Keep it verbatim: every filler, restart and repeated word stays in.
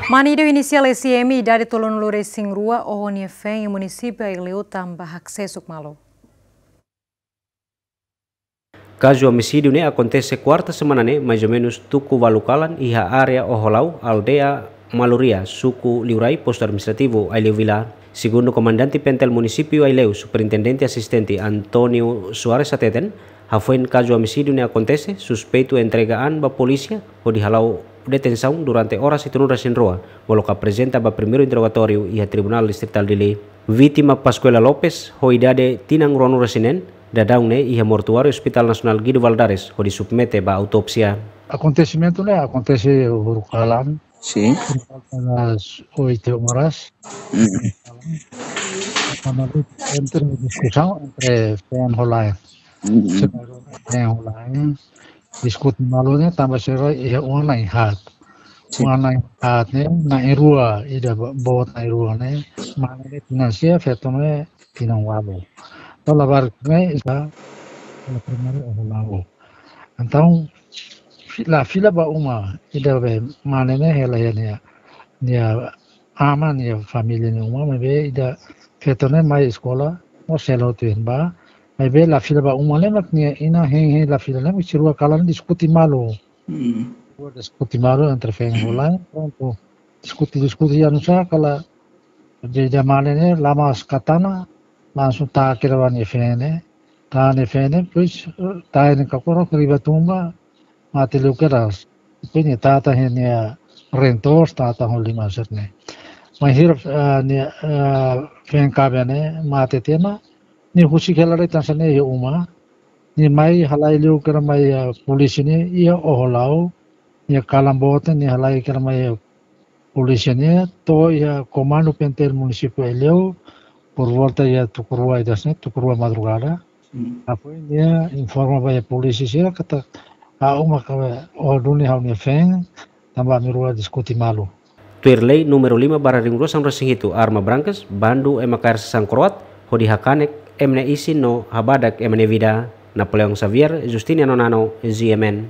Mane ida ho inisiál S M, idade tolunulu-resin-rua, oho nia feen iha munisípiu Aileu tanba haksesuk malu. Kazu omisídiu ne'e akontese kuarta semana ne'e, mais ou menus tuku ualu kalan, iha área Oho Lau, aldeia Maluria, suku Liurai, postu administrativu Aileu Vila. Segundu komandante PNTL munisípiu Aileu, superintendente asistente António Soares hateten, hafoin kazu omisídiu ne'e akontese, suspeitu entrega an ba polísia, hodi hala'o detensaun durante oras hitunulu-resin-rua, molok aprezenta ba primeiru interrogatóriu iha Tribunál Distritál Dili. Vítima Pascuela Lopes, ho idade tinan ruanulu-resin-neen, daudaun ne'e iha mortuáriu Hospital Nasionál Guido Valadares, hodi submete ba autópsia. Akontesimentu ne'e akontese uhuru kalan. Sim. Por volta das oito horas. Mm. Entre diskusaun entre feen ho la'en. Mm. Feen ho la'en. Diskute malu ne'e tanba sira iha uma na'in haat. Sim. Uma na'in haat ne'e, na'in rua, ida bo-, boot na'in rua ne'e. Mane ne'e tinan sia, feto ne'e tinan ualu. Entaun labarik ne'e iha, iha primeiru Oho Lau. Entaun, fi-, la fila ba uma, ida be mane ne'e hela iha nia, nia aman, nia família nia uma, maibé ida feto ne'e mai eskola, mós selu tuir ba, maibé la fila ba uma ne'e mak nia inan hein-hein la fila ne'e, mak sira rua kalan diskute malu. Mm. Rua diskute malu entre feen ho la'en, prontu. Diskute, diskute, iha nusa kala, de, de mane ne'e, la mós hatene, langsung taka kira ba nia feen ne'e, taka nia feen ne'e, depois, eh, taka nia kakoro, riba tumba, mate liu kedas. Depois nia tata hein nia reen toos, tata ho liman sira-ne'e. Bainhira, eh, nia, eh, feen kaben ne'e, mate tiha ona, nia husik hela de'it hanesan ne'e iha uma. Nia mai halai liu kira mai, eh, polísia ne'e iha Oho Lau. Nia kalan boot ne'e nia halai kira mai, eh, polísia ne'e to'o iha komandu PNTL munisípiu Aileu, por volta iha tuku rua ida hanesan ne'e, tuku rua madrugada. Hmm. Hafoin nia informa ba iha polísia sira katak ha'u maka oho duni ha'u-nia feen, tanba ami rua diskute malu. Tuir lei númeru lima barra rihun rua sanulu-resin-hitu, arma brankas, bandu ema kaer sasán kro'at, hodi hakanek ema nia isin no habadak ema nia vida. Napoleão Xavier, Justiniano Nano, G M N.